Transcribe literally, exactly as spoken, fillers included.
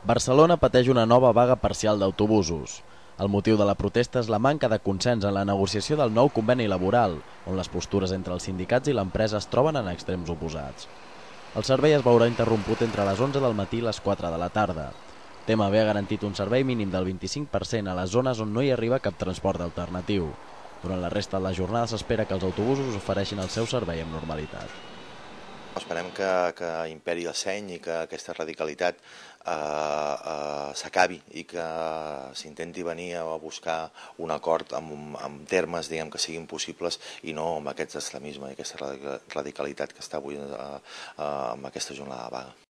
Barcelona pateix una nova vaga parcial d'autobusos. El motiu de la protesta és la manca de consens en la negociació del nou conveni laboral, on les postures entre els sindicats i l'empresa es troben en extrems oposats. El servei es veurà interromput entre les onze del matí i les quatre de la tarda. T M B ha garantit un servei mínim del vint-i-cinc per cent a les zones on no hi arriba cap transport alternatiu. Durant la resta de la jornada s'espera que els autobusos ofereixin el seu servei amb normalitat. Esperem que, que imperi el seny i que aquesta radicalitat eh, eh, s'acabi i que s'intenti venir a buscar un acord amb, amb termes diguem, que siguin possibles i no amb aquest extremisme i aquesta radicalitat que està avui eh, eh, amb aquesta jornada de vaga.